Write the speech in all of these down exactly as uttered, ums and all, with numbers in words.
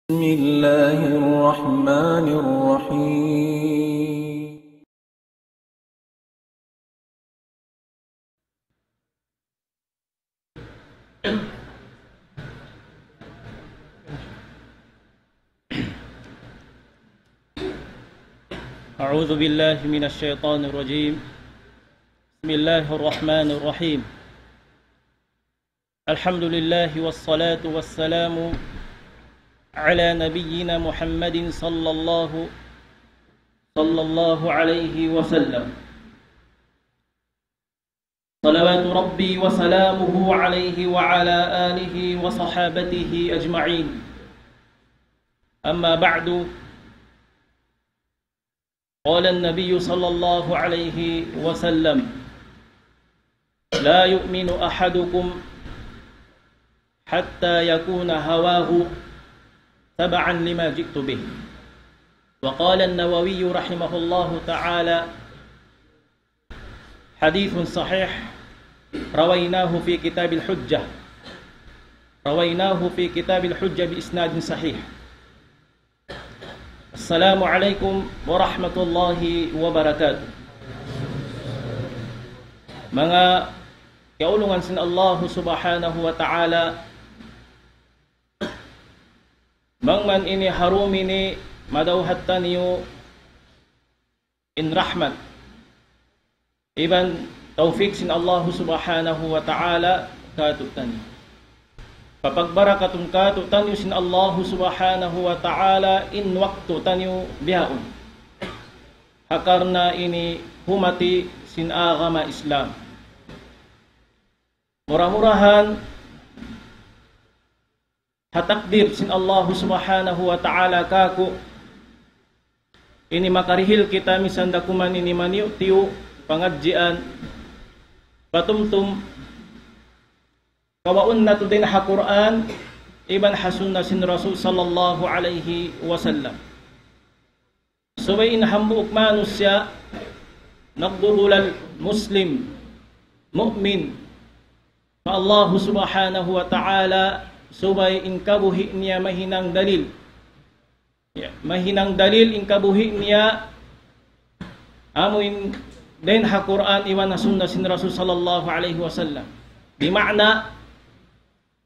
بسم الله الرحمن الرحيم. أعوذ بالله من الشيطان الرجيم. بسم الله الرحمن الرحيم. الحمد لله والصلاة والسلام على نبينا محمد صلى الله، صلى الله عليه وسلم. صلوات ربي وسلامه عليه وعلى آله وصحابته أجمعين. أما بعد، قال النبي صلى الله عليه وسلم: لا يؤمن أحدكم حتى يكون هواه تبعا لما جئت به. وقال النووي رحمه الله تعالى: حديث صحيح، رويناه في كتاب الحجة، رويناه في كتاب الحجة بإسناد صحيح. السلام عليكم ورحمة الله وبركاته. Manga kaulungan sin Allahu Subhanahu wa Ta'ala, bang man ini ha dum ini madawhat taniyu in rahmat iban tawfik sin Allahu Subhanahu wa Ta'ala kātu'niyu. Papagbarakatun kātu'niyu sin Allahu Subhanahu wa Ta'ala in waktu taniyu bihaun. Ha karna' ini humati sin agama Islam. Mura-murahan ha takdir sin Allahu Subhanahu wa Ta'ala kāku', ini makarihil kita misan da kuman ini maniyu'-tiyu' pangadjian, patumtum kawaun natu' dayn ha Qur'an iban ha sunna sin Rasul sallallahu alayhi wasallam. Subay in hambuuk manusiya' nagdudulal Muslim, mu'min, pa Allahu Subhanahu wa Ta'ala, subay in kabuhi' niya mahinang dalil. Ya, mahinang dalil in kabuhi' niya amu in dayn ha Qur'an iban ha sunna sin Rasul sallallahu alayhi wasallam. Di' maana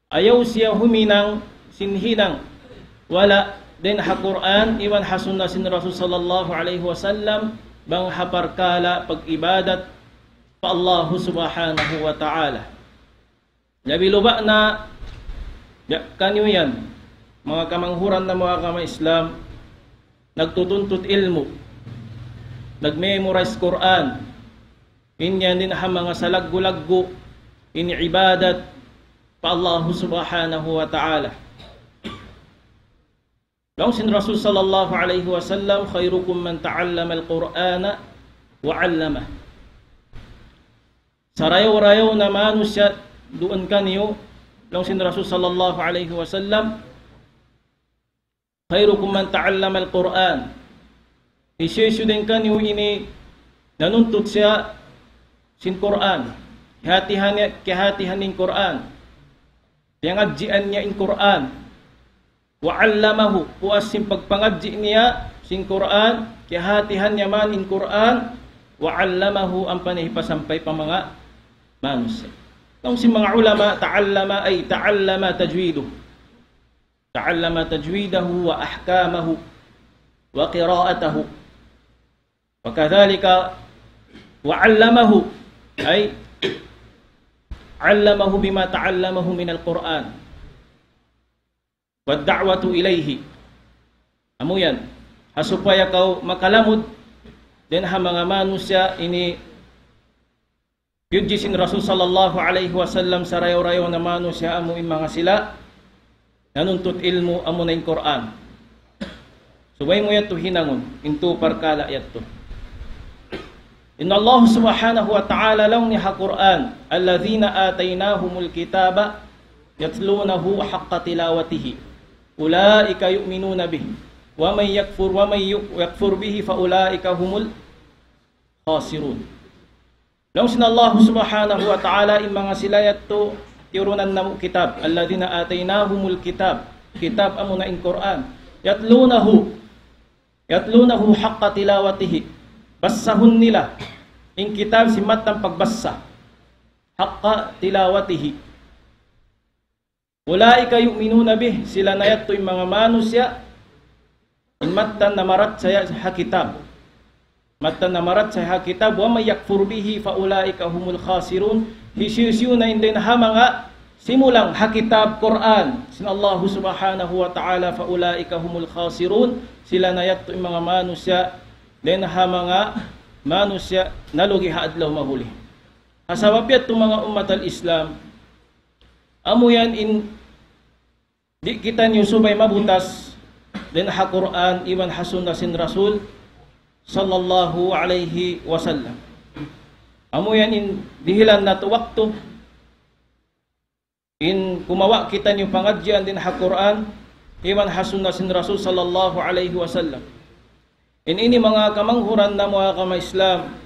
ayaw siya huminang sin hinang wala' dayn ha Qur'an iban ha sunna sin Rasul sallallahu alayhi wasallam bang ha parkala' pag-ibadat pa Allahu Subhanahu wa Ta'ala. Labi-labi na, ya, kaniyu yan, manga kamanghuran namu' agama Islam, nagtutuntut ilmu', nag-memorize Qur'an, in yan dayn ha manga salaggu'-laggu' in ibadat pa Allahu Subhanahu wa Ta'ala. Laung sin Rasul sallallahu alayhi wasallam, خيركم من تعلم القرآن وعلمه. Sarayaw-rayaw na manusiya' duun kaniyu, laung sin Rasul sallallahu alayhi wasallam, خيركم من تعلم القرآن. Hisiyu-siyu dayn kaniyu ini nanuntut siya sin Qur'an. Kiyahatihan niya, kiyahatihan in Qur'an. Piyangadjian niya in Qur'an. وعلمه, puas sin pagpangadji' niya sin Qur'an, kiyahatihan niya man in Qur'an, وعلمه, ampa niya hipasampay pa manga manusiya'. Laung sin manga ulama, تعلم أي تعلم تجويده. تعلم تجويده وأحكامه وقراءته. وكذلك وعلمه، أي علمه بما تعلمه من القرآن والدعوة إليه. Amu yan. Ha supaya kaw makalamud dayn ha manga manusiya' ini piyudji sin Rasul sallallahu alayhi wasallam, sarayaw-rayaw na manusiya' amu in manga sila nanuntut ilmu' amuna in Qur'an. Subay mu yadtu hinangun, in tū parkala' yadtu. Inna Allah subhanahu wa ta'ala laung niya ha Qur'an, الذين آتيناهم الكتاب يتلونه حق تلاوته أولئك يؤمنون به ومن يكفر، ومن يكفر به فأولئك هم الخاسرون. Laung sin Allah subhanahu wa ta'ala, in manga sila yadtu tiyurunan namu' kitab, الذين آتيناهم الكتاب. Kitab amuna in Qur'an. يتلونه، يتلونه حق تلاوته. Basahun nila in kitab sin mattan pagbasa. حق تلاوته. أولئك يؤمنون به. Sila na yadtu in manga manusiya' in mattan namarachaya ha kitab. Mattan namarachaya ha kitab, ومن يكفر به فأولئك هم الخاسرون. Hisiyu-siyu na in dayn ha manga simulang ha kitab Qur'an sin Allahu Subhanahu wa Ta'ala, فأولئك هم الخاسرون. Sila na yadtu in manga manusiya', dayn ha manga manusiya' nalugi ha adlaw mahuli. Ha sabab yadtu manga ummat al-Islam, amu yan in di' kitaniyu subay mabutas dayn ha Qur'an iban ha sunna sin Rasul sallallahu alayhi wasallam. Amu yan in dihilan natu' waktu in kumawa' kitaniyu pangadjian dayn ha Qur'an iban ha sunna sin Rasul sallallahu alayhi wasallam. In ini manga kamanghuran namu' ha agama Islam.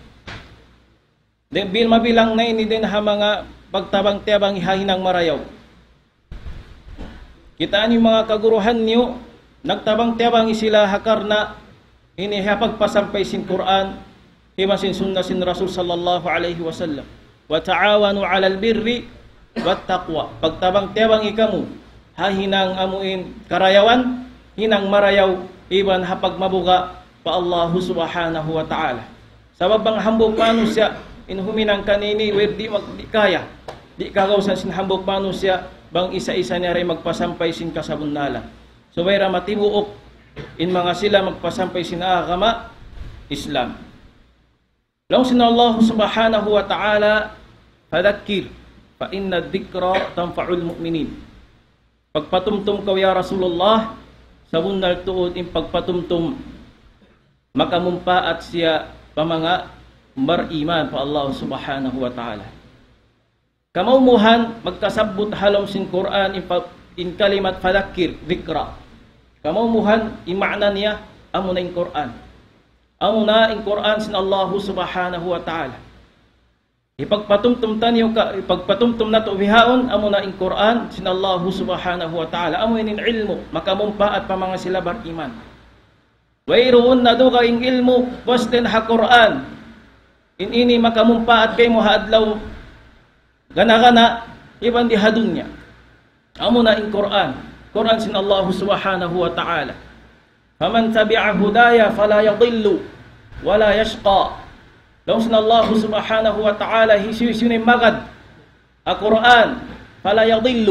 Dayn bil mabilang na ini dayn ha manga pagtabang-tiyabangi ha hinang marayaw. Kitaa niyu manga kaguruhan niyu, nagtabang-tiyabangi sila ha karna' ini ha pagpasampay sin Qur'an, iban sin sunna sin Rasul sallallahu alayhi wasallam. وتعاونوا على البر والتقوى. Pagtabang-tiyabangi kamu ha hinang amu in karayawan, hinang marayaw, iban ha pagmabuga' pa Allahu Subhanahu wa Ta'ala. Sabab bang hambuuk manusiya' in huminang kanini, way di' mag-, di' kaya. Di' kagausan sin hambuuk manusiya' bang isa-isa niya ray magpasampay sin kasabunnalan. Subay da matibuuk in manga sila magpasampay sin agama Islam. Laung sin Allah Subhanahu wa Ta'ala, فذكر فإن الذكرى تنفع المؤمنين. Pagpatumtum kaw ya Rasulullah, sabunnal tuud in pagpatumtum makamumpaat siya pa manga bariman pa Allah Subhanahu wa Ta'ala. Kamaumuhan magkasabbut ha lawm sin Qur'an in pa-, in kalimat fadhakkir, dhikra. Kamaumuhan in ma'na niya amuna in Qur'an. Amuna in Qur'an sin Allahu Subhanahu wa Ta'ala. Hipagpatumtum taniyu ka, hipagpatumtum natu' bihaun, amuna in Qur'an sin Allahu Subhanahu wa Ta'ala. Amu in ilmu' makamumpaat pa manga sila bariman. Wayruun na dugaing ilmu' puas dayn ha Qur'an in ini makamumpaat kaymu ha adlaw gana-gana iban di ha dunya. Amuna in Qur'an, Qur'an sin Allahu Subhanahu wa Ta'ala. فمن تبع هداي فلا يضل ولا يشقى. Laung sin Allahu Subhanahu wa Ta'ala, hisiyu-siyu in magad ha Qur'an, فلا يضل,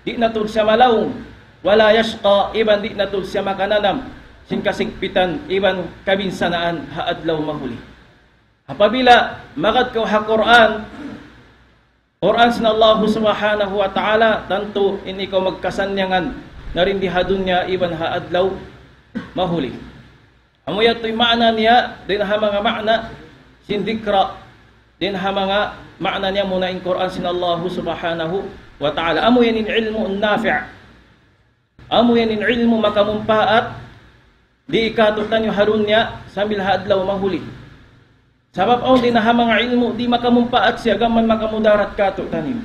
di' na tuud siya malaung, ولا يشقى, iban di' na tuud siya makananam sin kasigpitan iban kabinsanaan ha adlaw mahuli. Apabila magad kaw ha Qur'an, Qur'an sin Allahu Subhanahu wa Ta'ala, tantu in ikaw magkasannyangan na dayn di ha dunya iban ha adlaw mahuli. Amu yadtu in ma'na niya, dayn ha manga ma'na sin dhikra, dayn ha manga ma'na niya amuna in Qur'an sin Allahu Subhanahu wa Ta'ala. Amu yan in ilmu' nafi'. Amu yan in ilmu' makamumpaat, di' kātu'niyu ha dunya sambil ha adlaw mahuli. Sabab awn dayn ha manga ilmu' di' makamumpaat siya, gam mayan makamudarat kātu'niyu.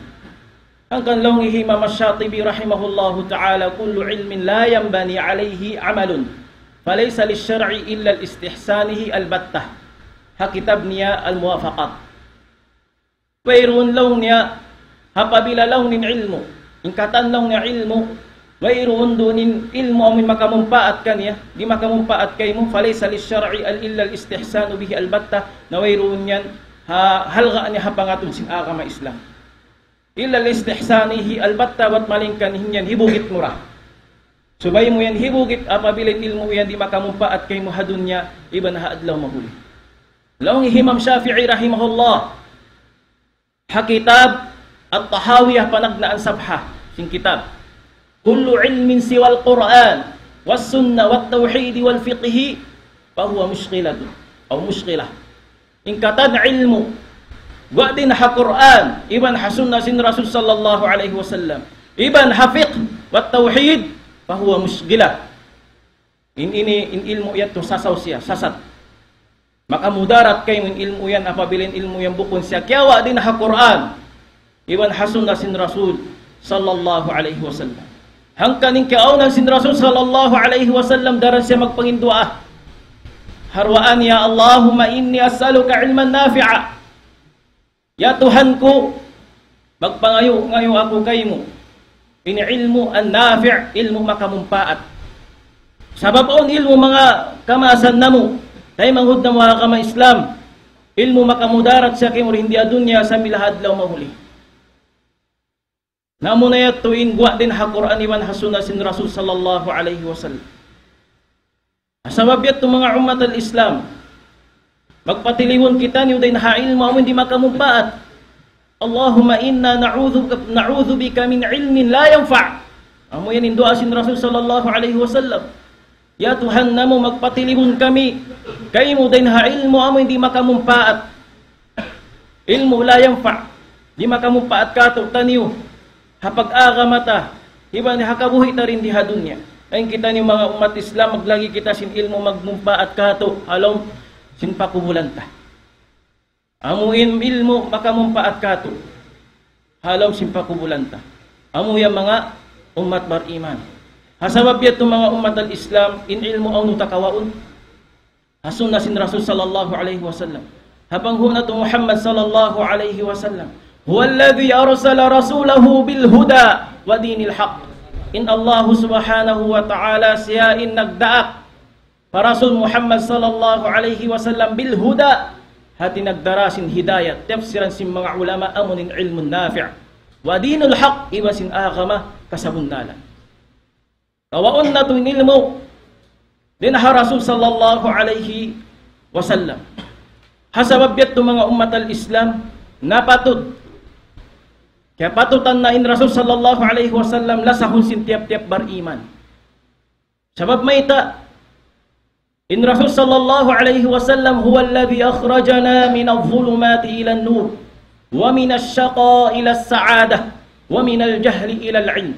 Hangkan laung hi Imam Ash-Shatibi rahimahullahu ta'ala, كل علم لا ينبني عليه عمل فليس للشرع إلا لاستحسانه البتة. Ha kitab niya Al-Muwafaqat. Wayruun laung niya, apabila laung niya in ilmu', in katan laung niya ilmu', wayruun duun in ilmu' amun makamumpaat kaniya, di' makamumpaat kaymu, فليس للشرع إلا الاستحسان به البتة, na wayruun yan ha halga' niya ha pangatud sin agama Islam. إلا لاستحسانه البتة, bat malayngkan in yan hibugit mu ra. Subay mu yan hibugit apabila in ilmu' yan di' makamumpaat kaymu ha dunya iban ha adlaw mahuli. Laung hi Imam Shafi'i rahimahullah, ha kitab At-Tahawiyah panagnaan sabha sin kitab, كل علم سوى القرآن والسنة والتوحيد والفقه فهو مشغلة أو مشغلة. In katan ilmu', guwa' dayn ha Qur'an, iban ha sunna sin Rasul sallallahu alayhi wasallam, iban ha fiqh wa tawhid, فهو مشغلة. In ini, in ilmu' yadtu sasaw siya, sasat. Makamudarat kaymu in ilmu' yan apabila in ilmu' yan bukun siya kiyawa' dayn ha Qur'an iban ha sunna sin Rasul sallallahu alayhi wasallam. Hangkan in kiyaawnan sin Rasul sallallahu alayhi wasallam daran siya magpanginduwaa. Ha duwaa niya, اللهم إني أسألك علما نافعا. Ya Tuhan ku, magpangayu'-ngayu' aku kaymu in ilmu' an-nafi', ilmu' makamumpaat. Sabab awn ilmu' manga kamaasan namu', taymanghud namu' ha agama Islam, ilmu' makamudarat siya kaymu dayn di ha dunya sambil ha adlaw mahuli. Na amuna yadtu in guwa' dayn ha Qur'an iban ha sunna sin Rasul sallallahu alayhi wasallam. Sabab yadtu manga ummat al-Islam, magpatilibun kitaniyu dayn ha ilmu' amu in di' makamumpaat. اللهم إنا نعوذ بك، نعوذ بك من علم لا ينفع. Amu yan in duwaa sin Rasul sallallahu alayhi wasallam. Ya Tuhan namu', magpatilibun kami kaymu dayn ha ilmu' amu in di' makamumpaat. Ilmu' la yanfa', di' makamumpaat kātu'niyu ha pag-agama ta, iban ha kabuhi' ta dayn di ha dunya. Amu in kitaniyu manga ummat Islam, maglagi kita sin ilmu' magmumpaat kātu' ha lawm sin pakubulan ta. Amu in ilmu' makamumpaat kātu' ha lawm sin pakubulan ta. Amu yan manga ummat bariman. Ha sabab yadtu manga ummat al-Islam, in ilmu' hawnu ta kawaun? Ha sunna sin Rasul sallallahu alayhi wasallam. Ha panghu' natu' Muhammad sallallahu alayhi wasallam. هو الذي أرسل رسوله بالهدى ودين الحق. In Allahu subhanahu wa ta'ala siya in nagdaak pa Rasul Muhammad sallallahu alayhi wasallam بالهدى, hāti nagdara sin hidayat, tiyapsiran sin manga ulama amu in ilmu' nafi'. ودين الحق, iban sin agama kasabunnalan. Kawaun natu' in ilmu' dayn ha Rasul sallallahu alayhi wasallam. Ha sabab yadtu manga ummat al-Islam, napatut, kiyapatutan na in Rasul sallallahu alayhi wasallam lasahun sin tiyap-tiyap bariman. Sabab mayta', in Rasul sallallahu alayhi wasallam, هو الذي أخرجنا من الظلمات إلى النور ومن الشقاء إلى السعادة ومن الجهل إلى العلم.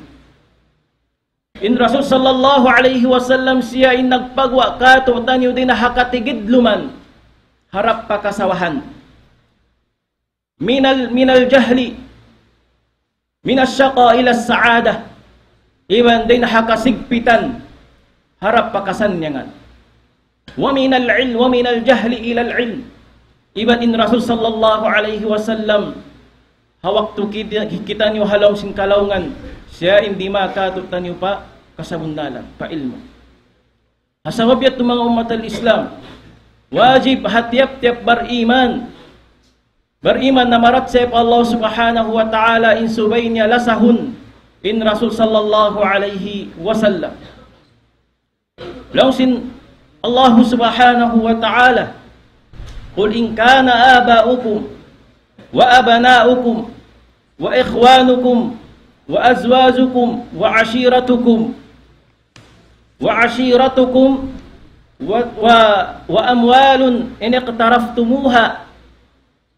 In Rasul sallallahu alayhi wasallam siya in nagpaguwa' kātu'niyu dayn ha katigidluman harap pa kasawahan. من ال-، من الجهل، من الشقاء إلى السعادة. Iban dayn ha kasigpitan harap pa kasannyangan. ومن العلم، ومن الجهل إلى العلم. Iban in Rasul sallallahu alayhi wasallam, ha waktu kita, kitaniyu ha lawm sin kalaungan, siya in dimaak kātu'niyu pa kasabunnalan, pa ilmu'. Ha sabab yadtu manga ummat al-Islam, wajib ha tiyap-tiyap bariman, bariman na marachaya pa Allah subhanahu wa ta'ala, in subay niya lasahun in Rasul sallallahu alayhi wasallam. Laung sin Allah subhanahu wa ta'ala, قل إن كان آباؤكم وأبناؤكم وإخوانكم وأزواجكم وعشيرتكم، وعشيرتكم و-، و-، وأموال إن اقترفتموها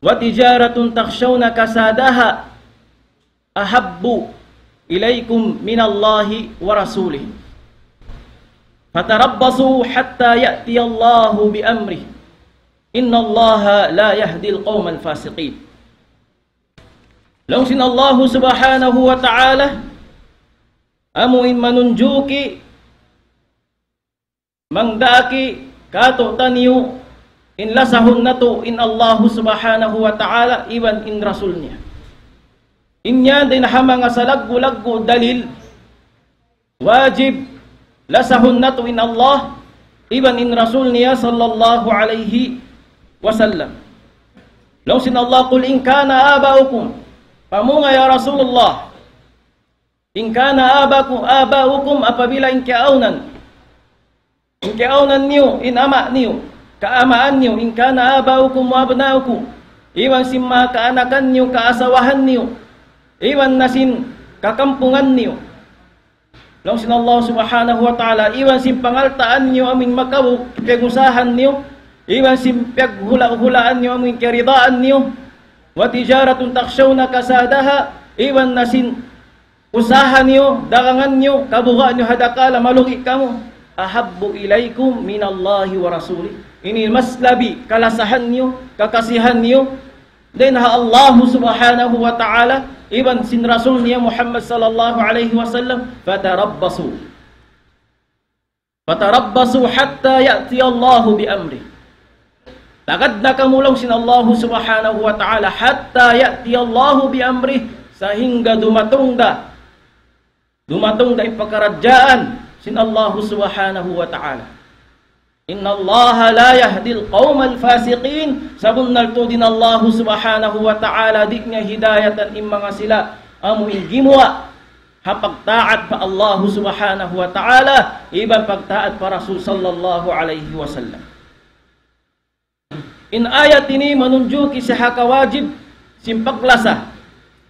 وتجارة تخشون كسادها أحب إليكم من الله ورسوله فتربصوا حتى يأتي الله بأمره إن الله لا يهدي القوم الفاسقين. Laung sin Allahu subhanahu wa ta'ala, amu in manunjuki, mangdaaki kātu'niyu in lasahun natu' in Allahu subhanahu wa ta'ala iban in Rasul niya. In yan dayn ha manga salaggu'-laggu' dalil, wajib lasahun natu' in Allah iban in Rasul niya sallallahu alayhi wasallam. Laung sin Allah, قل إن كان آباؤكم, pamunga ya Rasulullah, إن كان آباؤكم، آباؤكم, apabila in kiyaawnan, in kiyaawnan niyu, in ama' niyu, kaamaan niyu, إن كان آباؤكم وأبناؤكم, iban sin manga kaanakan niyu, kaasawahan niyu, iban na sin kakampungan niyu. Laung sin Allah subhanahu wa ta'ala, iban sin pangaltaan niyu amu in makaw, piyag-usahan niyu, iban sin piyaghula'-hulaan niyu amu in kiyaridaan niyu, وتجارة تخشون كسادها, iban na sin usaha niyu, dagangan niyu, kabuga' niyu ha dakala', malugi' kamu. أحب إليكم من الله ورسوله. Ini mas labi kalasahan niyu, kakasihan niyu, Dayn ha Allah subhanahu wa ta'ala, iban sin Rasul niya Muhammad sallallahu alayhi wasallam, فتربصوا. فتربصوا حتى يأتي الله بأمره. Tagad na kamu laung sin Allah subhanahu wa ta'ala, حتى يأتي الله بأمره, sahingga dumatung da, dumatung da in pakaradjaan sin Allah subhanahu wa ta'ala. إن الله لا يهدي القوم الفاسقين. Sabunnal tuud in Allah subhanahu wa ta'ala di' niya hidayatan in manga sila amu in gimuwa' ha pagtaat pa Allah subhanahu wa ta'ala, iban pagtaat pa Rasul sallallahu alayhi wasallam. In ayat ini manunjuki siya ha kawajib sin paglasa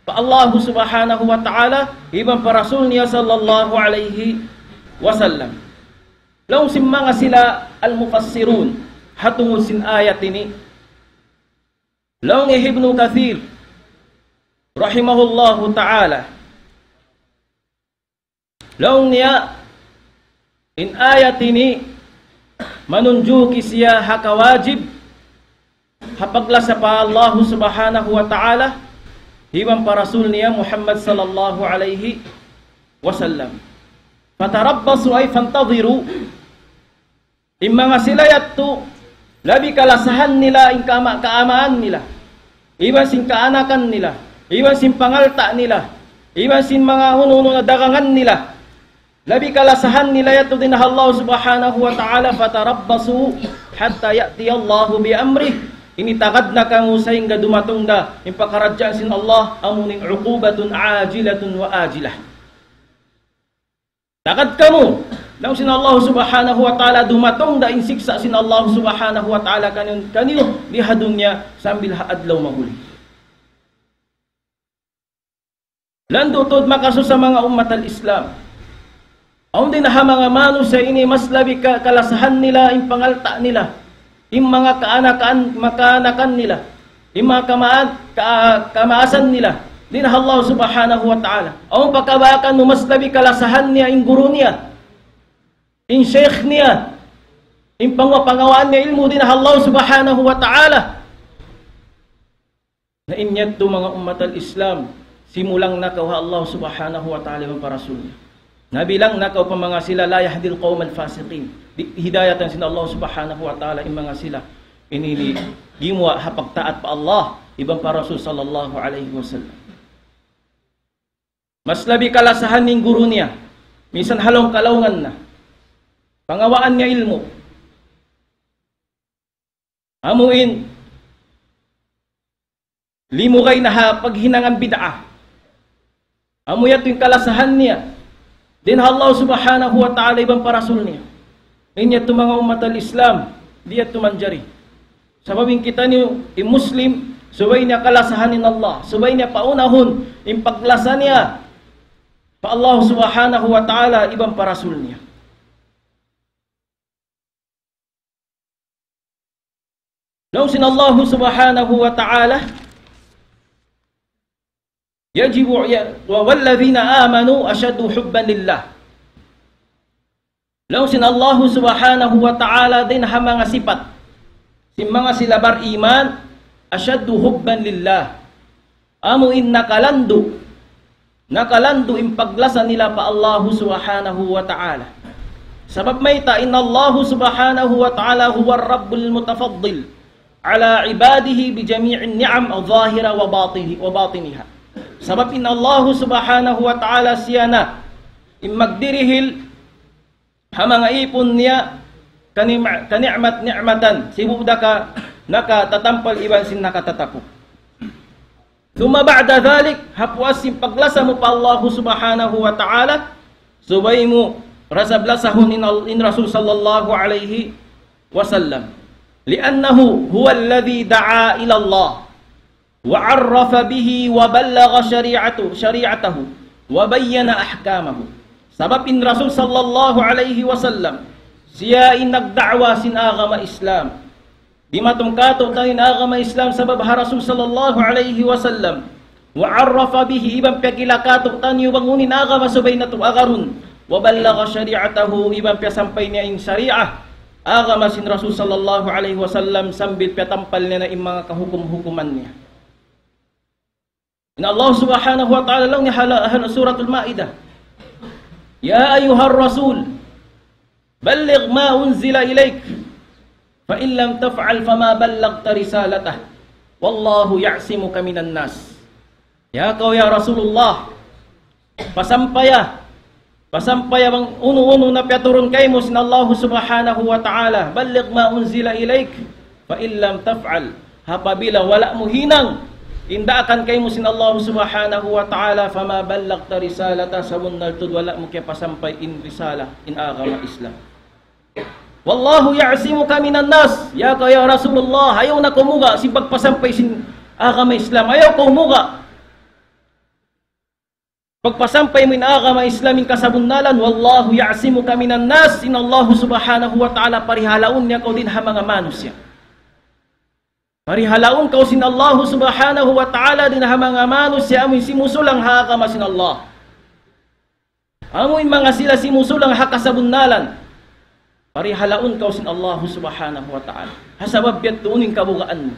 pa Allah subhanahu wa ta'ala, iban pa Rasul niya sallallahu alayhi wasallam. Laung sin manga sila al-mufassirun, ha tungud sin ayat ini, laung hi Ibnu Kathir, rahimahullahu ta'ala, laung niya, in ayat ini manunjuki siya ha kawajib ha paglasa pa Allah subhanahu wa ta'ala, iban pa Rasul niya Muhammad sallallahu alayhi wasallam. فتربصوا أي فانتظروا. In manga sila yadtu, labi kalasahan nila in kama-, kaamaan nila, iban sin kaanakan nila, iban sin pangalta' nila, iban sin manga unu-unu na dagangan nila. Labi kalasahan nila yadtu dayn ha Allah subhanahu wa ta'ala, فتربصوا حتى يأتي الله بأمره. Ini tagad na kamu sahingga dumatung da in pakaradjaan sin Allah, amu in عقوبة عاجلة وآجلة. Tagad kamu, laung sin Allah subhanahu wa ta'ala, dumatung da in siksa' sin Allah subhanahu wa ta'ala kaniyu, kaniyu di ha dunya sambil ha adlaw mahuli. Landu' tuud makasusa manga ummat al-Islam. Awn dayn ha manga manusiya' ini mas labi ka-, kalasahan nila in pangalta' nila, in manga kaanakan, makaanakan nila, in manga kamaan-, ka-, kamaasan nila dayn ha Allah subhanahu wa ta'ala. Awn pa kabaakan mu mas labi kalasahan niya in guru niya, in sheikh niya, in pangwa-, pangawaan niya ilmu' dayn ha Allah subhanahu wa ta'ala. Na in yadtu manga ummat al-Islam, simulang na kaw ha Allah subhanahu wa ta'ala iban pa Rasul niya. Nabilang na kaw pa manga sila لا يهدي القوم الفاسقين. Di' hidayatan sin Allah subhanahu wa ta'ala in manga sila ini, ini gimuwa' ha pagtaat pa Allah iban pa Rasul sallallahu alayhi wasallam. Mas labi kalasahan in guru niya, minsan ha lawm kalawngan na. Pangawaan niya ilmu'. Amu in limugay na ha paghinangan bid'ah. Amu yadtu in kalasahan niya dayn ha Allah subhanahu wa ta'ala iban pa Rasul niya. In yadtu manga ummat al-Islam, di' yadtu manjari. Sabab in kitaniyu, in Muslim, subay niya kalasahan in Allah, subay niya paunahun in paglasa niya pa Allah subhanahu wa ta'ala iban pa Rasul niya. Laung sin Allah subhanahu wa ta'ala, يجب ي-، و-، والذين آمنوا أشد حبا لله. Laung sin Allah subhanahu wa ta'ala dayn ha manga sipat sin manga sila bariman, أشد حبا لله. Amu in nakalandu', nakalandu' in paglasa nila pa Allahu subhanahu wa ta'ala. Sabab mayta', إن الله سبحانه وتعالى هو الرب المتفضل على عباده بجميع النعم الظاهرة وباطنه-، وباطنها. Sabab in Allahu subhanahu wa ta'ala siya na in magdirihil ha manga īpun niya, kani-, kani'mat-ni'matan, sibu' da ka nakatatampal iban sin nakatatapuk. ثم بعد ذلك, ha puas sin paglasa mu pa Allahu subhanahu wa ta'ala, subay mu rasab lasahun in Al-, in Rasul sallallahu alayhi wasallam. لأنه هو الذي دعا إلى الله. وعرف به وبلغ شريعته، شريعته وبين أحكامه. Sabab in Rasul sallallahu alayhi wasallam, siya in nagda'wa sin agama Islam. Dimatung kātu'niyu in agama Islam sabab ha Rasul sallallahu alayhi wasallam. وعرف به, iban piyakila kātu'niyu bang unu in agama subay natu' agarun. وبلغ شريعته, iban piyasampay niya in shariah, agama sin Rasul sallallahu alayhi wasallam sambil piyatampal niya na in manga kahukum-hukuman niya. In Allah Subhanahu wa Ta'ala laung niya ha, ha Suratul Maidah, يا أيها الرسول بلغ ما أنزل إليك فإن لم تفعل فما بلغت رسالته والله يعصمك من الناس. Ya kaw, ya Rasulullah, pasampaya, pasampaya bang unu-unu na piyaturun kaymu sin Allah Subhanahu wa Ta'ala. بلغ ما أنزل إليك فإن لم تفعل. Apabila wala' mu hinang in daakan kaymu sin Allah Subhanahu wa Ta'ala, فما بلغت رسالته, sabunnal tuud wala' mu kiyapasampay in risala, in agama Islam. والله يعصمك من الناس. Ya kaw, ya Rasulullah, ayaw na kaw muga' sin pagpasampay sin agama Islam. Ayaw kaw muga' pagpasampay mu in agama Islam in kasabunnalan. والله يعصمك من الناس. In Allah Subhanahu wa Ta'ala parihalaun niya kaw dayn ha manga manusiya'. Parihalaun kaw sin Allah Subhanahu wa Ta'ala dayn ha manga manusiya' amuin simusulang ha agama sin Allah. Amuin manga sila simusulang ha kasabunnalan. Parihalaun kaw sin Allah Subhanahu wa Ta'ala. Ha sabab yadtu unu in kabugaan mu.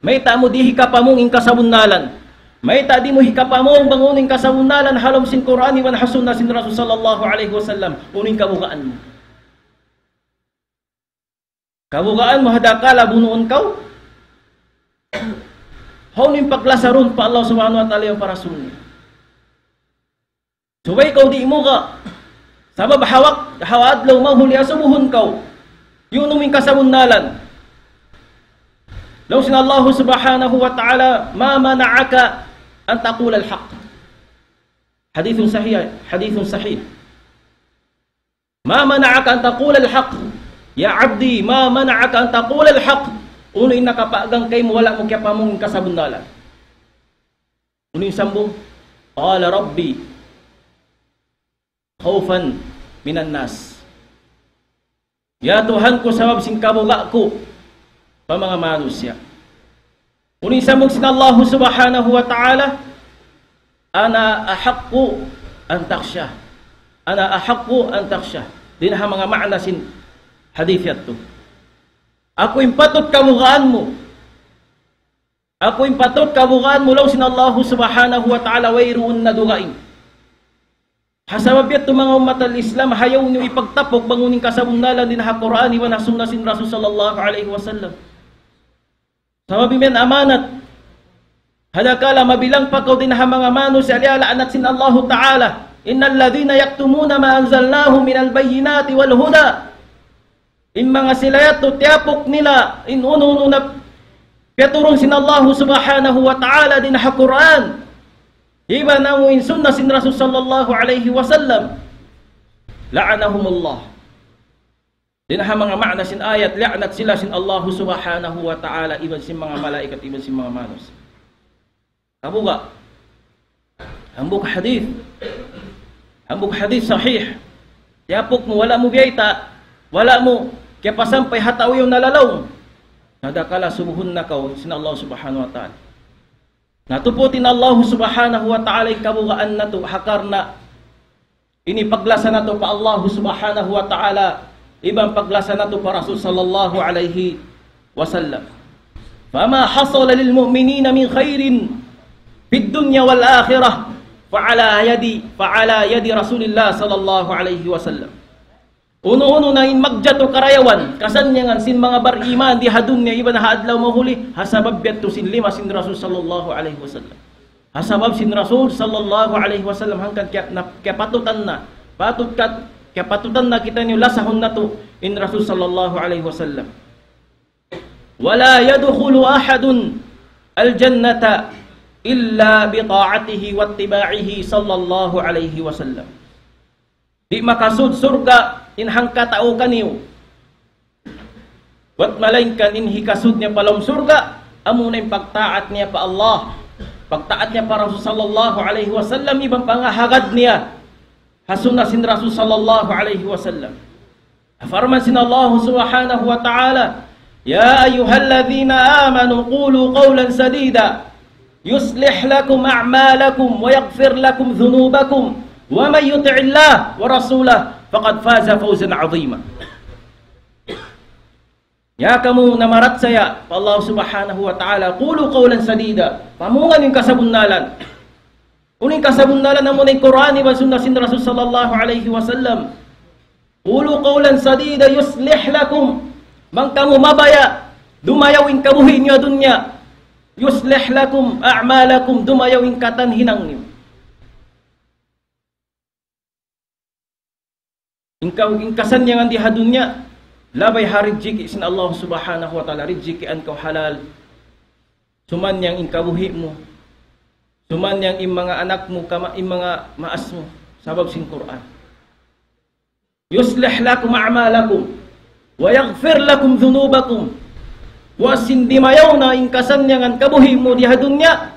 Mayta' mu di' hikapamung in kasabunnalan. Mayta' di' mu hikapamung bang unu in kasabunnalan ha lawm sin Qur'an iban ha sunnah sin Rasul sallallahu alayhi wasallam. Unu in kabugaan mu. Kabugaan mu ha dakala' bunuun kaw. Hawnu in paglasarun pa Allah Subhanahu wa Ta'ala iban pa Rasul niya. Subay kaw di' muga'. Sabab ha wak-, ha adlaw mahuli asubuhun kaw. Yadtu in kasabunnalan. Laung sin Allah Subhanahu wa Ta'ala, ما منعك أن تقول الحق. حديث صحيح، حديث صحيح. ما منعك أن تقول الحق. يا عبدي، ما منعك أن تقول الحق. Unu in nakapagang kaymu wala' mu kiyapamung kasabunnalan. Unu in sambung? قال ربي خوفا من الناس. Ya Tuhan ku, sabab sin kabuga' ku pa manga manusiya'. Unu in sambung sin Allah Subhanahu wa Ta'ala, أنا أحق أن تخشى. أنا أحق أن تخشى. Dayn ha manga ma'na sin hadith yadtu. Aku in patut kabugaan mu. Aku in patut kabugaan mu, laung sin Allah Subhanahu wa Ta'ala, wayruun na dugaing. Ha sabab yadtu manga ummat al-Islam, ayaw niyu ipagtapuk bang unu in kasabunnalan dayn ha Qur'an iban ha sunnah sin Rasul sallallahu alayhi wasallam. Sabab in amanat. Ha dakala' mabilang pa kaw dayn ha manga manusiya' liyala'nat sin Allahu Ta'ala. إن الذين يكتمون ما أنزلناه من البينات والهدى. In manga sila yadtu tiyapuk nila in unu-unu na piyaturun sin Allahu Subhanahu wa Ta'ala dayn ha Qur'an. Iban amu in sunnah sin Rasul sallallahu alayhi wasallam. لعنهم الله. Dayn ha manga ma'na sin ayat, la'nat sila sin Allahu Subhanahu wa Ta'ala, iban sin manga malaikat, iban sin manga manusiya'. Kabuga'. Hambuuk hadith. Hambuuk hadith sahih. Tiyapuk mu, wala' mu biyayta', wala' mu kiyapasampay ha tau yaun nalalaw. Na dakala' subuhun na kaw sin Allah Subhanahu wa Ta'ala. Natuput in Allah Subhanahu wa Ta'ala in kabugaan natu' ha karna' ini paglasa natu' pa Allah Subhanahu wa Ta'ala, iban paglasa natu' pa Rasul sallallahu alayhi wasallam. فما حصل للمؤمنين من خير في الدنيا والآخرة فعلى يد، فعلى يد رسول الله صلى الله عليه وسلم. Unu-unu na in magjatu karayawan, kasannyangan sin manga bariman di ha dunya iban ha adlaw mahuli, ha sabab yadtu sin lima sin Rasul sallallahu alayhi wasallam. Ha sabab sin Rasul sallallahu alayhi wasallam hangkan kiya-, na-, kiyapatutan na, patut kat-, kiyapatutan na kitaniyu lasahun natu' in Rasul sallallahu alayhi wasallam. ولا يدخل أحد الجنة إلا بطاعته واتباعه صلى الله عليه وسلم. Di' makasud surga' in hangkatau kaniyu. Buwat malaingkan in hikasud niya pa lawm surga', amuna in pagtaat niya pa Allah, pagtaat niya pa Rasul sallallahu alayhi wasallam, iban pangahagad niya ha sunnah sin Rasul sallallahu alayhi wasallam. Parman sin Allah Subhanahu wa Ta'ala, يا أيها الذين آمنوا قولوا قولا سديدا يصلح لكم أعمالكم ويغفر لكم ذنوبكم ومن يطع الله ورسوله فقد فاز فوزا عظيما. Ya kamu namarachaya pa Allah Subhanahu wa Ta'ala, قولوا قولا سديدا. Pamungan in kasabunnalan. Unu in kasabunnalan? Amuna in Qur'an iban sunna sin Rasul sallallahu alayhi wasallam. قولوا قولا سديدا يصلح لكم. Bang kamu mabaya', dumayaw in kabuhi' niyu ha dunya. يصلح لكم أعمالكم, dumayaw in katan hinang niyu. In ka-, in kasannyangan di ha dunya, labay ha rijiki sin Allah Subhanahu wa Ta'ala, rijikian kaw halal. Sumannyang in kabuhi' mu, sumannyang in manga anak mu, kama-, in manga maas mu, sabab sin Qur'an. يصلح لكم أعمالكم ويغفر لكم ذنوبكم. Wa sin dimayaw na in kasannyangan kabuhi' mu di ha dunya,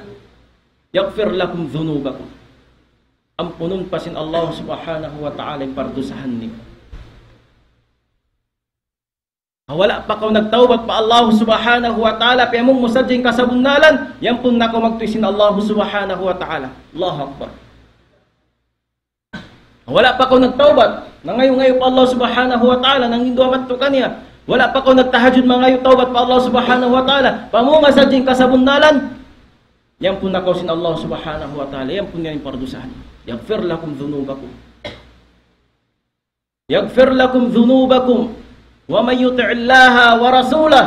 يغفر لكم ذنوبكم. Ampunun pa sin Allah Subhanahu wa Ta'ala in pardusahan niyu. Wala' pa kaw nagtawbat pa Allah Subhanahu wa Ta'ala, piyamung mu sadja in kasabunnalan, yampun na kaw magtuy sin Allah Subhanahu wa Ta'ala. Allahu Akbar. Wala' pa kaw nagtawbat, nangayu'-ngayu' pa Allah Subhanahu wa Ta'ala, nanginduwa madtu kaniya. Wala' pa kaw nagtahajjud, mangayu' tawbat pa Allah Subhanahu wa Ta'ala, pamunga sadja in kasabunnalan, yampun na kaw sin Allah Subhanahu wa Ta'ala, yampun niya in pardusahan. يغفر لكم ذنوبكم. يغفر لكم ذنوبكم ومن يطع الله ورسوله.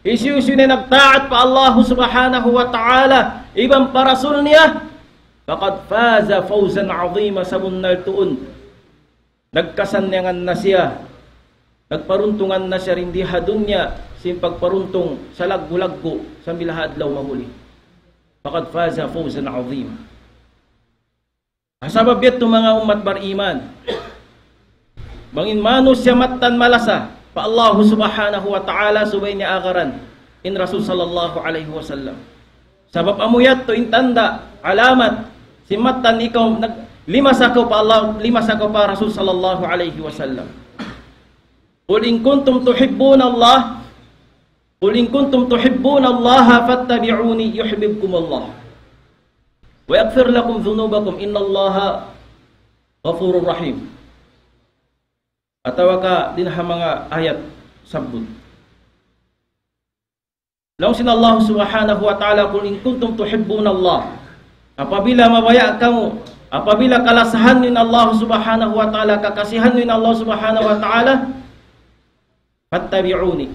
Hisiyu-siyu in nagtaat pa Allah Subhanahu wa Ta'ala iban pa Rasul niya, فقد فاز فوزا عظيما, sabunnal tuud nagkasannyangan na siya, nagparuntungan na siya dayn di ha dunya sin pagparuntung salaggu'-laggu' sampay ha adlaw mahuli. فقد فاز فوزا عظيما. Sabab yadtu, manga ummat bariman, bang in manusiya' mattan malasa pa Allah Subhanahu wa Ta'ala, subay niya agaran in Rasul sallallahu alayhi wasallam. Sabab amu yadtu in tanda', alamat, sin mattan ikaw nag-, limasa kaw pa Allah, limasa kaw pa Rasul sallallahu alayhi wasallam. قل إن كنتم تحبون الله قل إن كنتم تحبون الله فاتبعوني يحببكم الله ويغفر لكم ذنوبكم إن الله غفور رحيم. Atawa ka dayn ha manga ayat sabbut. Laung sin Allah Subhanahu wa Ta'ala, قل إن كنتم تحبون الله. Apabila mabaya' kamu, apabila kalasahan niyu in Allah Subhanahu wa Ta'ala, kakasihan niyu in Allah Subhanahu wa Ta'ala, فاتبعوني.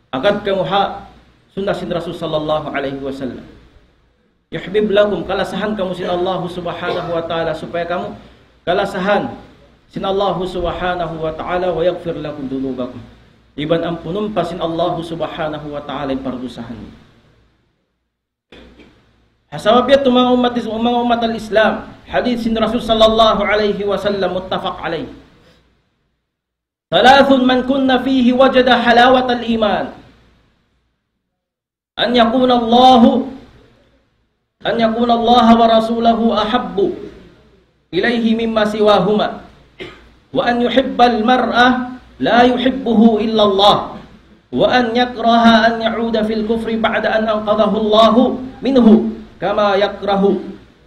Agad kamu ha sunnah sin Rasul sallallahu alayhi wasallam. يحببكم, kalasahan kamu sin Allah Subhanahu wa Ta'ala, supaya kamu kalasahan sin Allah Subhanahu wa Ta'ala, ويغفر لكم ذنوبكم. Iban ampunun pa sin Allah Subhanahu wa Ta'ala in pardusahan niyu. Sabab yadtu, manga ummat is-, manga ummat al-Islam, hadith sin Rasul sallallahu alayhi wasallam, متفق عليه. ثلاث من كن فيه وجد حلاوة الإيمان. أن يكون الله، أن يكون الله ورسوله أحب إليه مما سواهما، وأن يحب المرء لا يحبه إلا الله، وأن يكره أن يعود في الكفر بعد أن أنقذه الله منه، كما يكره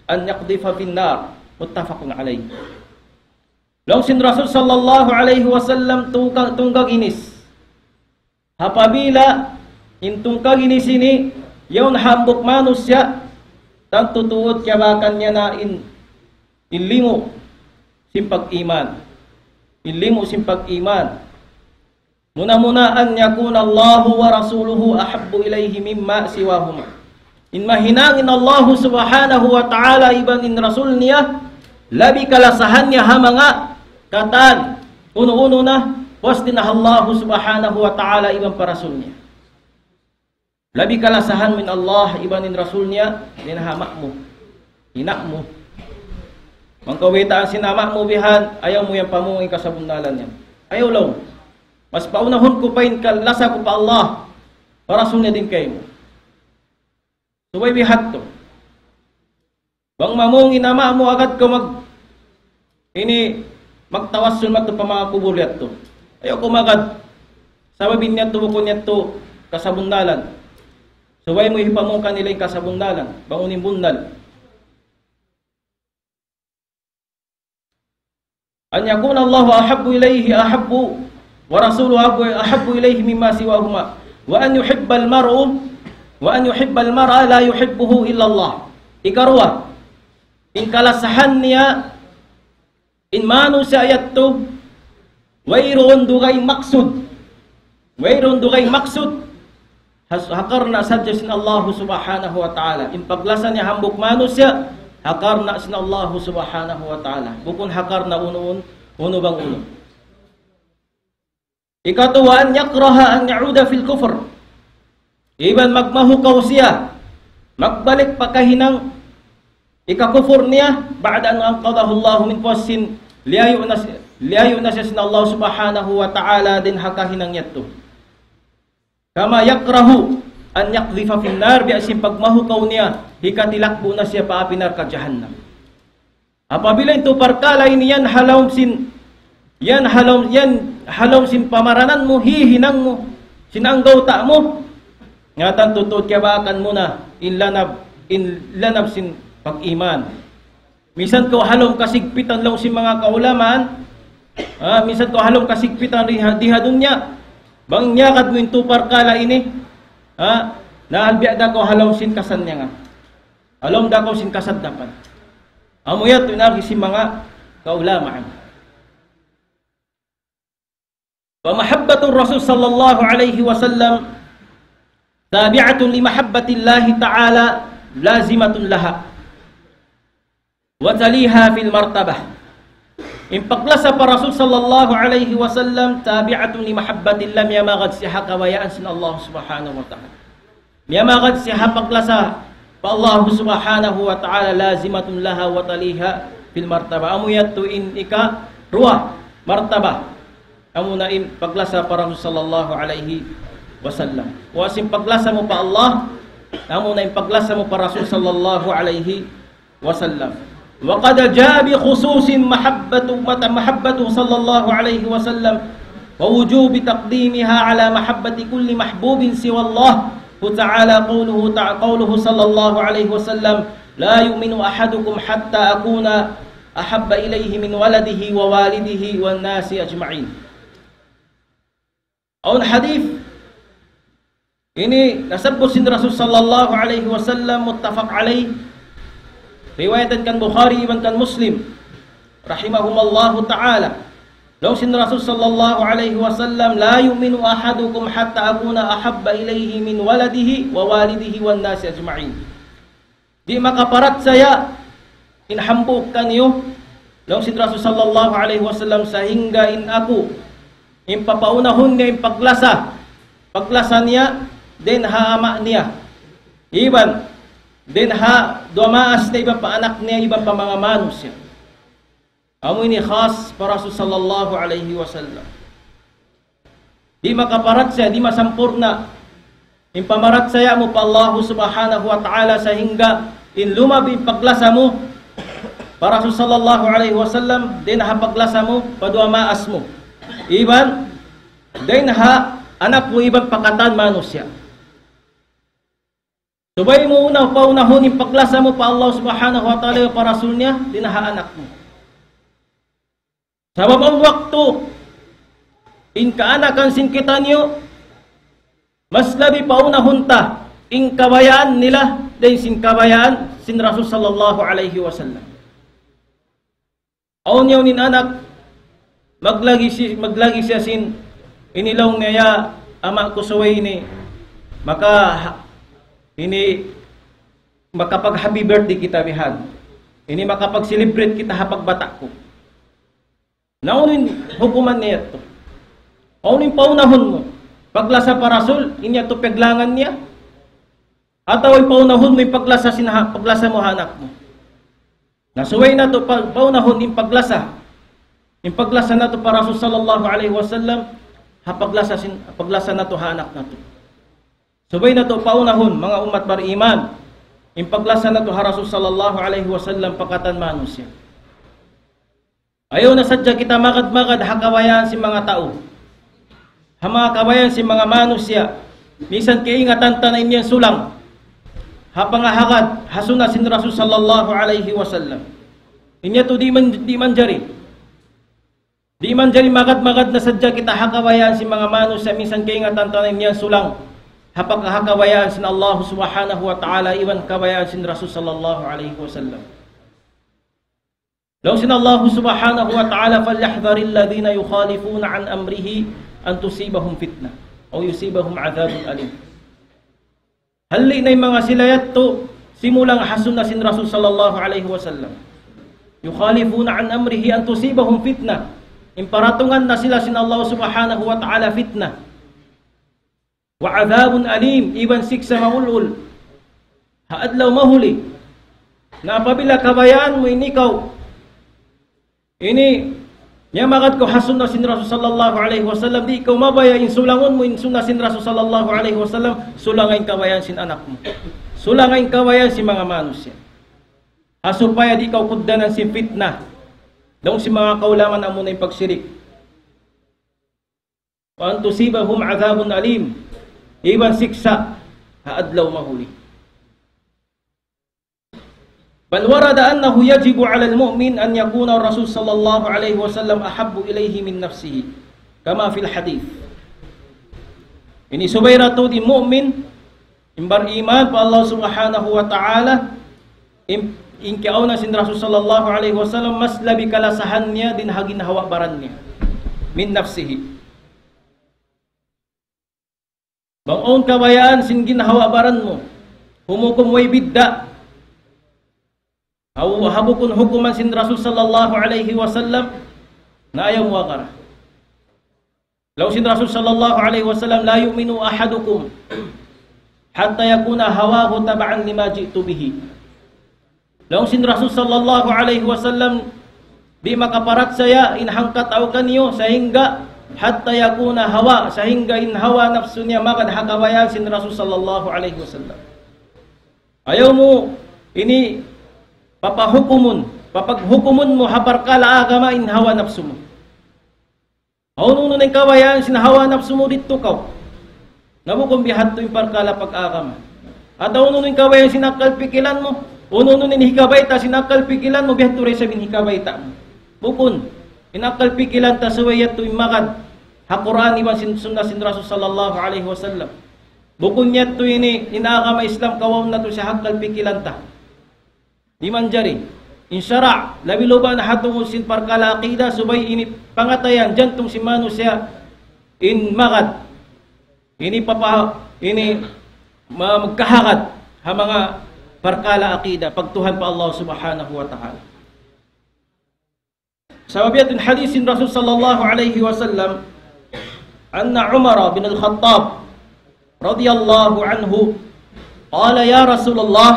أن يقذف في النار. متفق عليه. Laung sin Rasul sallallahu alayhi wasallam, tungka-, tungka' ginis. Apabila in tungka' ginis ini, yaun hambuuk manusiya', tantu tuud kiyabakan niya na in, in limu sin pag-iman. In limu sin pag-iman. Muna-muna, أن يكون الله ورسوله أحب إليه مما سواهما. In mahinang in Allah Subhanahu wa Ta'ala iban in Rasul niya, labi kalasahan niya ha manga katan, unu-unu na, puas dayn ha Allah Subhanahu wa Ta'ala iban pa Rasul niya. Labi kalasahan mu in Allah iban in Rasul niya, dayn ha ama' mu, ina' mu. Bang kaw baytaan sin ama' mu bihan, ayaw mu yan pamungan in kasabunnalan niya. Ayaw laung. Mas paunahun ku pa in kalasa ku pa Allah, pa Rasul niya dayn kaymu. Subay biha' tu. Bang mamung in ama' mu agad kaw mag-, ini, magtawassul madtu pa manga kubul yadtu. Ayaw kaw magad. Sabab in yadtu bukun yadtu kasabunnalan. Subay mu hipamung kanila in kasabunnalan. Bang unu in bunnal. أن يكون الله أحب إليه، أحب ورسوله أحب إليه مما سواهما وأن يحب المرء وأن يحب المرء لا يحبه إلا الله. Ikaruwa, in kalasahan niya, in manusiya' yadtu, wayruun dugaing maksud. Wayruun dugaing maksud. Has-, ha karna' sadja sin Allah Subhanahu wa Ta'ala. In paglasa niya hambuuk manusiya', ha karna' sin Allah Subhanahu wa Ta'ala. Bukun ha karna' unu-un-, unu bang unu. Ikatu, وأن يكره أن يعود في الكفر. Iban magmahukaw siya magbalik pa kahinang hikakufur niya, بعد أن أنقذه الله منه, sin liyayu' na si-, liyayu' na siya sin Allah Subhanahu wa Ta'ala dayn ha kahinang yadtu. كما يكره أن يقذف في النار, biya' sin pagmahukaw niya hikatilakbu' na siya pa api narka' jahannam. Apabila in tū parkala' ini yan ha lawm sin, yan ha lawm, yan ha lawm sin pamaranan mu, hihinang mu, sin anggawta' mu, nga tantu tuud kiyabaakan mu na in lanab, in lanab sin pag-iman. Minsan kaw ha lawm kasigpitan laung sin manga kaulamaan, ha, minsan kaw ha lawm kasigpitan di ha, di ha dunya, bang niyagad mu in tū parkala' ini, ha, na biya' da kaw ha lawm sin kasanyangan. Ha lawm da kaw sin kasaddapan. Amu yadtu in agi sin manga kaulamaan. فمحبة الرسول صلى الله عليه وسلم تابعة لمحبة الله تعالى لازمة لها وتليها في المرتبة. In paglasa pa Rasul sallallahu alayhi wasallam, تابعة لمحبة الله, miyamagad siya ha kabayaan sin Allah Subhanahu wa Ta'ala. Miyamagad siya ha paglasa pa Allah Subhanahu wa Ta'ala, لازمة لها وتليها في المرتبة. Amu yadtu in ikaruwa martaba. Amu na in paglasa pa Rasul sallallahu alayhi wasallam. Wa sin paglasa mu pa Allah, amu na in paglasa mu pa Rasul sallallahu alayhi wasallam. وقد جاء بخصوص محبة، مت-، محبته صلى الله عليه وسلم ووجوب تقديمها على محبة كل محبوب سوى الله تعالى قوله تع-، قوله صلى الله عليه وسلم: لا يؤمن أحدكم حتى أكون أحب إليه من ولده ووالده والناس أجمعين. Awn hadith ini nasabbut sin Rasul sallallahu alayhi wasallam, muttafaq alayh. Riwayatan kan Bukhari iban kan Muslim, rahimahumallahu ta'ala. Laung sin Rasul sallallahu alayhi wasallam, لا يؤمن أحدكم حتى أكون أحب إليه من ولده ووالده والناس أجمعين. Di' makaparachaya in hambuuk kaniyu, laung sin Rasul sallallahu alayhi wasallam, sahingga in aku, in papaunahun niya in paglasa, paglasa niya, dayn ha ama' niya, iban dayn ha duwa maas niya, iban pa anak niya, iban pa manga manusiya'. Amu ini khas pa Rasul sallallahu alayhi wasallam. Di' makaparachaya, di' masampurna' in pamarachaya mu pa Allahu Subhanahu wa Ta'ala, sahingga in lumab in paglasa mu pa Rasul sallallahu alayhi wasallam, dayn ha paglasa mu pa duwa maas mu, iban dayn ha anak mu, iban pa katan manusiya'. Subay mu una paunahun in paglasa mu pa Allah Subhanahu wa Ta'ala, pa Rasul niya, dayn ha anak mu. Sabab awn waktu, in kaanakan sin kitaniyu, mas labi paunahun ta in kabayaan nila dayn sin kabayaan sin Rasul sallallahu alayhi wasallam. Awn yaun in anak, maglagi si-, maglagi siya sin, ini laung niya, "Ya ama' ku, subay ini maka-, ini makapag-happy birthday kita bihan. Ini makapag-celebrate kita ha pagbata' ku." Na unu in hukuman niya yadtu? Unu in paunahun mu? Paglasa pa Rasul, in yadtu piyaglangan niya? Atawa in paunahun mu in paglasa sin ha-, paglasa mu ha anak mu? Na subay natu' pa-, paunahun in paglasa. In paglasa natu' pa Rasul sallallahu alayhi wasallam, ha paglasa sin-, paglasa natu' ha anak natu'. Subay natu' paunahun, manga ummat bariman, in paglasa natu' ha Rasul sallallahu alayhi wasallam pa katan manusiya'. Ayaw na sadja kita magad-magad ha kabayaan sin manga tau. Ha manga kabayaan sin manga manusiya'. Minsan kaingatan ta na in yan sulang ha pangahagad ha sunnat sin Rasul sallallahu alayhi wasallam. In yadtu di' man-, di' manjari. Di' manjari magad-magad na sadja kita ha kabayaan sin manga manusiya', minsan kaingatan ta na in yan sulang ha pagka-, ha kabayaan sin Allah Subhanahu wa Ta'ala iban kabayaan sin Rasul sallallahu alayhi wasallam. Laung sin Allah Subhanahu wa Ta'ala, فليحذر الذين يخالفون عن أمره أن تصيبهم فتنة أو يصيبهم عذاب أليم. Halli' na in manga sila yadtu simulang ha sunna sin Rasul sallallahu alayhi wasallam. يخالفون عن أمره أن تصيبهم فتنة. In paratungan na sila sin Allah Subhanahu wa Ta'ala fitna. وعذاب أليم, iban siksa' maulul ha adlaw mahuli. Na apabila kabayaan mu ini kaw, ini, miyamagad kaw ha sunna sin Rasul sallallahu alayhi wasallam, di' kaw mabaya' in sulangun mu in sunna sin Rasul sallallahu alayhi wasallam, sulanga in kabayaan sin anak mu. Sulanga in kabayaan sin manga manusiya'. Ha supaya di' kaw kugdanan sin fitna. Laung sin manga kaulamaan, amuna in pagsirik. وأن تصيبهم عذاب أليم. Iban siksa' ha adlaw mahuli. بل ورد أنه يجب على المؤمن أن يكون الرسول صلى الله عليه وسلم أحب إليه من نفسه كما في الحديث. Ini subay da tuud in mu'min, in bariman pa Allah Subhanahu wa Ta'ala, in, in kiyauna sin Rasul sallallahu alayhi wasallam, mas labi kalasahan niya dayn ha ginhawa-baran niya. من نفسه. Bang awn kabayaan sin ginhawa-baran mu, humukum way bidda'. Aw ha bukun hukuman sin Rasul sallallahu alayhi wasallam, na ayaw mu agara. Laung sin Rasul sallallahu alayhi wasallam, لا يؤمن أحدكم حتى يكون هواه تبعا لما جئت به. Laung sin Rasul sallallahu alayhi wasallam, di' makaparachaya in hangkatau kaniyu sahingga حتى يكون هواه, sahingga in hawa napsu niya magad ha kabayaan sin Rasul sallallahu alayhi wasallam. Ayaw mu ini papahukumun, papaghukumun mu ha parkala' agama in hawa napsu mu. Unu-unu na in kabayaan sin hawa napsu mu didtu kaw. Na bukun bihadtu in parkala' pag-agama. Atawa unu-unu in kabayaan sin akkal pikilan mu. Unu-unu in hikabayta' sin akkal pikilan mu, bihadtu da isab in hikabayta' mu. Bukun, in akkal pikilan ta subay yadtu in magad ha Qur'an iban sin sunna sin Rasul sallallahu alayhi wasallam. Bukun yadtu ini in agama Islam kawaun natu' sin akkal pikilan ta. Di' manjari. In sara', labi-labi na ha tungud sin parkala' aqida, subay ini pangatayan, jantung sin manusiya' in magad. Ini papa, ini ma-, magkahagad ha manga parkala' aqida, pagtuhan pa Allah Subhanahu wa Ta'ala. Sabab yadtu in hadith sin Rasul sallallahu alayhi wasallam, أن عمر بن الخطاب رضي الله عنه قال: يا رسول الله،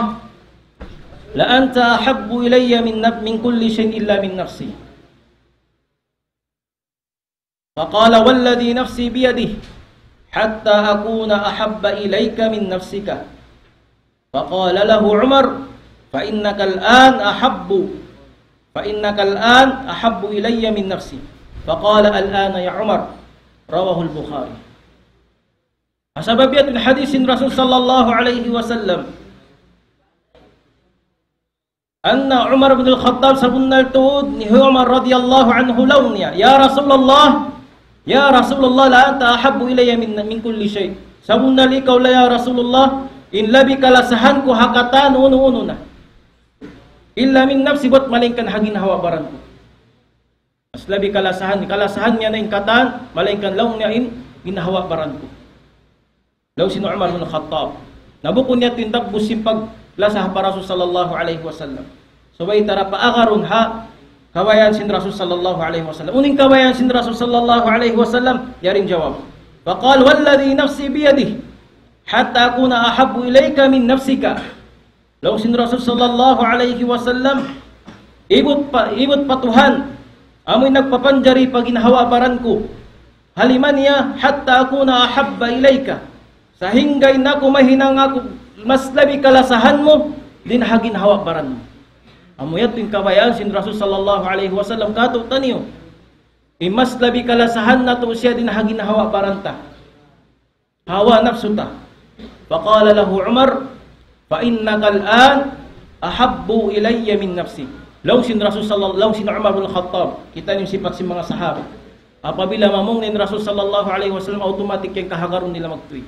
لأنت أحب إلي من نف-، من كل شيء إلا من نفسي. فقال: والذي نفسي بيده، حتى أكون أحب إليك من نفسك. فقال له عمر: فإنك الآن أحب، فإنك الآن أحب إلي من نفسي. فقال: الآن يا عمر. رواه البخاري. Sabab yadtu in hadith sin Rasul sallallahu alayhi wasallam. Anna Umar bin Al-Khattab, sabunnal tuud hi Umar radiyallahu anhu laung niya, يا رسول الله، يا رسول الله، لأنت أحب إلي من، من كل شيء. Sabunnal ikaw la, ya Rasulullah, in labi kalasahan ku ha katan unu-unu na. إلا من نفسي, bat malaingkan ha ginhawa-baran ku. Mas labi kalasahan, kalasahan niya na in katan, malaingkan laung niya in ginhawa-baran ku. Laung sin Umar bin Khattab. Na bukun yadtu in dagbus sin paglasa pa Rasul sallallahu alayhi wasallam. Subay ta da paagarun ha kabayaan sin Rasul sallallahu alayhi wasallam. Unu in kabayaan sin Rasul sallallahu alayhi wasallam, yari in jawab. فقال: والذي نفسي بيده، حتى أكون أحب إليك من نفسك. Laung sin Rasul sallallahu alayhi wasallam, ibut pa, ibut pa Tuhan, amu in nagpapanjari pa ginhawa-baran ku. Haliman niya, حتى أكون أحب إليك. Sahingga in aku mahinang aku mas labi kalasahan mu dayn ha ginhawa-baran mu. Amu yadtu in kabayaan sin Rasul sallallahu alayhi wasallam kātu'niyu. In mas labi kalasahan natu' siya dayn ha ginhawa-baran ta. Hawa napsu ta. فقال له عمر: فإنك الآن أحب إلي من نفسي. Laung sin Rasul sallallahu, laung sin Umar bin Khattab, kita' niyu in sipat sin manga sahabat. Apabila mamung in Rasul sallallahu alayhi wasallam, automatic yan kahagarun nila magtuy.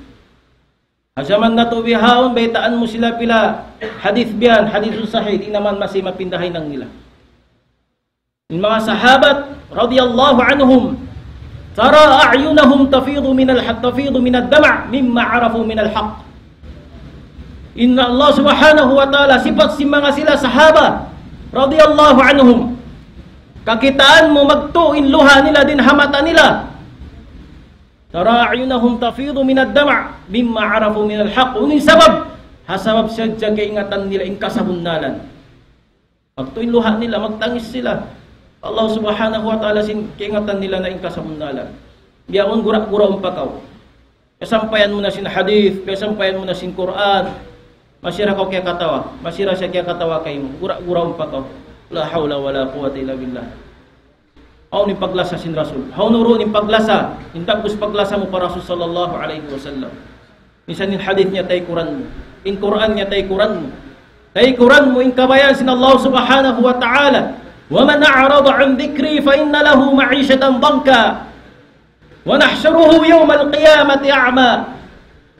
Ha jaman natu' bihaun, baytaan mu sila pila hadith biyan, hadithun sahih, di' na man masi mapinda hinang nila. In manga sahabat radiyallahu anhum, ترى أعينهم تفيض من الحق، تفيض من الدمع مما عرفوا من الحق. In Allah subhanahu wa ta'ala, sipat sin manga sila sahabat radiyallahu anhum, kakitaan mu magtu' in luha' nila dayn ha mata nila. ترى أعينهم تفيض من الدمع مما عرفوا من الحق. Unu in sabab? Ha sabab sadja kaingatan nila in kasabunnalan. Magtu' in luha' nila, magtangis sila. Allah subhanahu wa ta'ala sin kaingatan nila na in kasabunnalan. Biya' yaun gura-guraun pa kaw. Piyasampayan mu na sin hadith, piyasampayan mu na sin Qur'an. Masi ra kaw kiyakatawa, masi ra siya kiyakatawa kaymu. Gura-guraun pa kaw. لا حول ولا قوة إلا بالله. Hawnu in paglasa sin Rasul? Hawnu duun in paglasa? In dagbus paglasa mu pa Rasul sallallahu alayhi wasallam. Minsan in hadith niya taykuran mu. In Qur'an niya taykuran mu. Taykuran mu in kabayaan sin Allah subhanahu wa ta'ala. ومن أعرض عن ذكري فإن له معيشة ضنكا ونحشره يوم القيامة أعمى.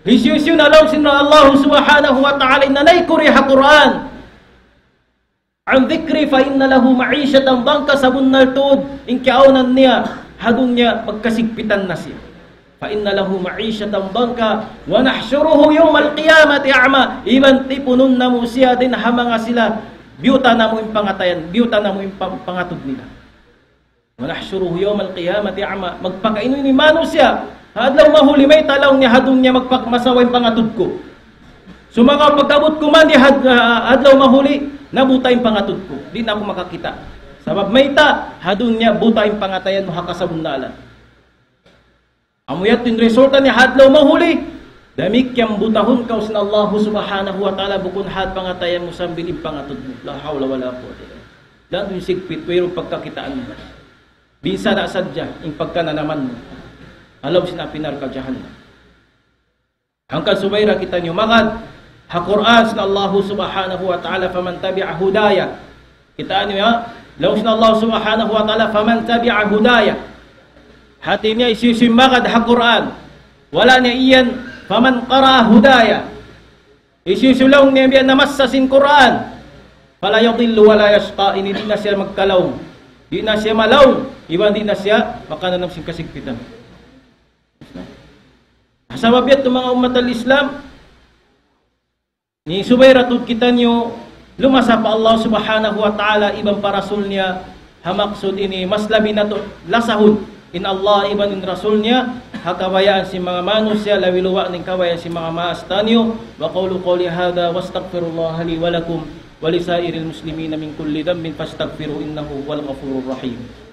Hisiyu-siyu na laung sin Allah subhanahu wa ta'ala in nanaykuri ha Qur'an. عن ذكري فإن له معيشة ضنكا, sabunnal tuud in kiyaawnan niya ha dunya magkasigpitan na siya. فإن له معيشة ضنكا ونحشره يوم القيامة أعمى. Iban tipunun namu' siya dayn ha manga sila, biyuta namu' in pangatayan, biyuta namu' in pang-, pangatud nila. ونحشره يوم القيامة أعمى. Magpakainu-inu in manusiya'. Ha adlaw mahuli mayta' laung niya ha dunya magpakmasawa in pangatud ku. Sumagawa' pagkabut ku man di ha, ha adlaw mahuli, nabuta in pangatud ku. Di' na aku makakita'. Sabab mayta', ha dunya buta in pangatayan mu ha kasabunnalan. Amu yadtu in resulta niya ha adlaw mahuli. Damikkiyan butahun kaw sin Allah subhanahu wa ta'ala, bukun hat pangatayan mu sambil in pangatud mu. لا حول ولا قوة إلا بالله. Dayn ha dunya sigpit, wayruun pagkakitaan mu. Binsada' sadja in pagkananaman mu ha lawm sin api narka' jahannam. Hangkan subay ra kitaniyu magad ha Qur'an sin Allah subhanahu wa ta'ala, فمن تبع هداي. Kitaa niyu, ha? Laung sin Allah subhanahu wa ta'ala, فمن تبع هداي. Hati niya hisiyu-siyu in magad ha Qur'an. Wala' niya iyan, فمن قرأ هداي. Hisiyu-siyu laung niya biya' namassa sin Qur'an. فلا يضل ولا يشقى. Ini di' na siya magkalaung. Di' na siya malaung. Iban di' na siya makananam sin kasigpitan. Ha sabab yadtu manga ummat al-Islam, ini subay ra tuud kitaniyu lumasa pa Allah subhanahu wa ta'ala iban pa Rasul niya, ha maksud ini mas labi natu' lasahun in Allah iban in Rasul niya, ha kabayaan sin manga manusiya', labi luba' na in kabayaan sin manga maas taniyu. وأقول قولي هذا وأستغفر الله لي ولكم ولسائر المسلمين من كل ذنب فاستغفروه إنه هو الغفور الرحيم.